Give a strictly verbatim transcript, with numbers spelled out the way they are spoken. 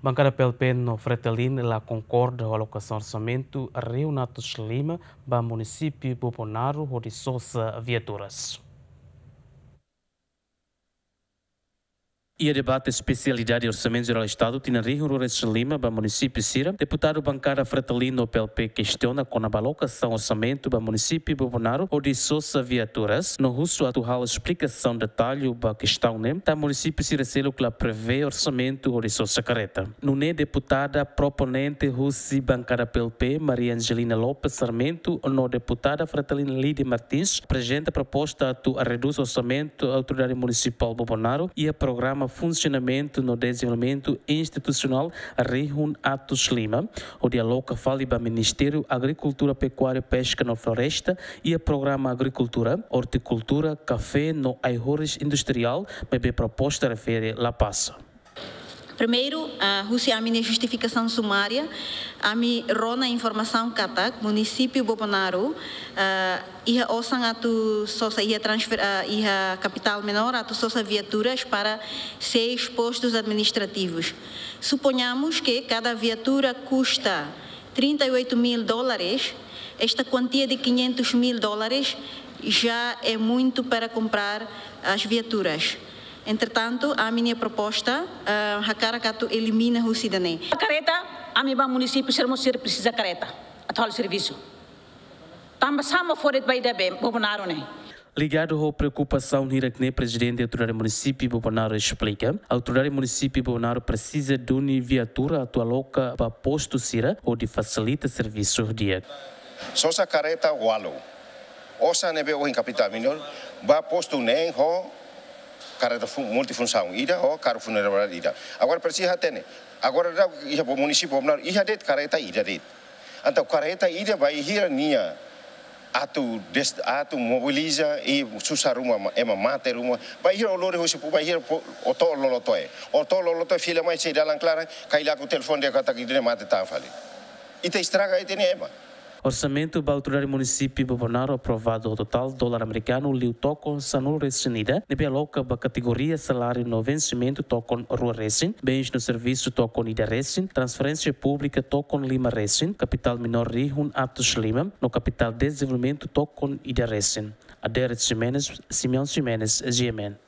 Bankada P L P no Fretilin la konkorda ho alokasaun orsamentu rihun atus lima ba munisípiu Bobonaro hodi sosa viaturas. Iha debate espesialidade Orsamentu Jerál Estadu tinan rihun rua resin lima ba munisípiu sira, deputadu bankada Fretilin no P L P kestiona kona-ba alokasaun orsamentu ba munisípiu Bobonaro hodi sosa viaturas, no husu atu halo esplikasaun detallu ba kestaun ne'e, tanba munisípiu sira seluk la prevee orsamentu hodi sosa kareta. Nune'e deputada proponente husi bankada P L P, Maria Angelina Lopes Sarmento, no deputada Fretilin Lide Martins, aprezenta proposta atu redús orsamentu Autoridade Munisipál Bobonaro iha programa Funsionamentu no Dezenvolvimentu Institusionál rihun atus lima, hodi aloka fali ba Ministériu Agrikultura, Pekuária, Peska no Floresta iha programa Agrikultura, Ortikultura, Kafé no ai-horis industriál, maibé proposta refere la pasa. Primeiru, ah, husi ami-nia justifikasaun sumária, ami rona informasaun katak munisípiu Bobonaro, ah, iha osan atu sosa, iha transfer, ah, iha kapitál menór atu sosa viaturas para seis postos administrativos. Suponhamos que cada viatura custa trinta e oito mil dólares, esta quantia de quinhentos mil dólares já é muito para comprar as viaturas. Entretanto, ami-nia proposta, ah, hakarak atu elimina husi ida-ne'e. Kareta, ami ba munisípiu sira mós sira presiza kareta atu halo servisu. Tanba sá mak fó de'it ba ida be Bobonaro ne'e. Ligadu ho preokupasaun hirak ne'e, Prezidente Autoridade Munisípiu Bobonaro esplika, Autoridade Munisípiu Bobonaro presiza duni viatura atu aloka ba postu sira hodi fasilita servisu di'ak. Sosa kareta ualu. Osan ne'ebé ohin kapitál menór ba postu neen ho kareta fu-, multifunsaun ida ho karru funerária ida. Agora presiza hatene. Agora daudaun iha munisípiu Bobonaro iha de'it kareta ida de'it. Entaun kareta ida bainhira nia atu des-, atu mobiliza i susar ruma ma-, ema mate ruma. Bainhira o lori husi pu-, bainhira pu-, o to'o lolotoe. O to'o lolotoe fila mai sei dalan klaran, kaila ku telefone dehan katak ida-ne'e mate tan fali. Ita estraga ita-nia ema. Orsamentu ba Autoridade Munisípiu Bobonaro aprovadu ho totál dolar amerikanu liu tokon sanulu resin ida, ne'ebé aloka ba kategoria saláriu no vensimentu tokon rua resin, bens no servisu tokon ida resin, transferénsia públika tokon lima resin, kapitál menór rihun atus lima, no kapitál dezenvolvimentu tokon ida resin. Adérito Ximenes, Simeão Ximenes, G M N.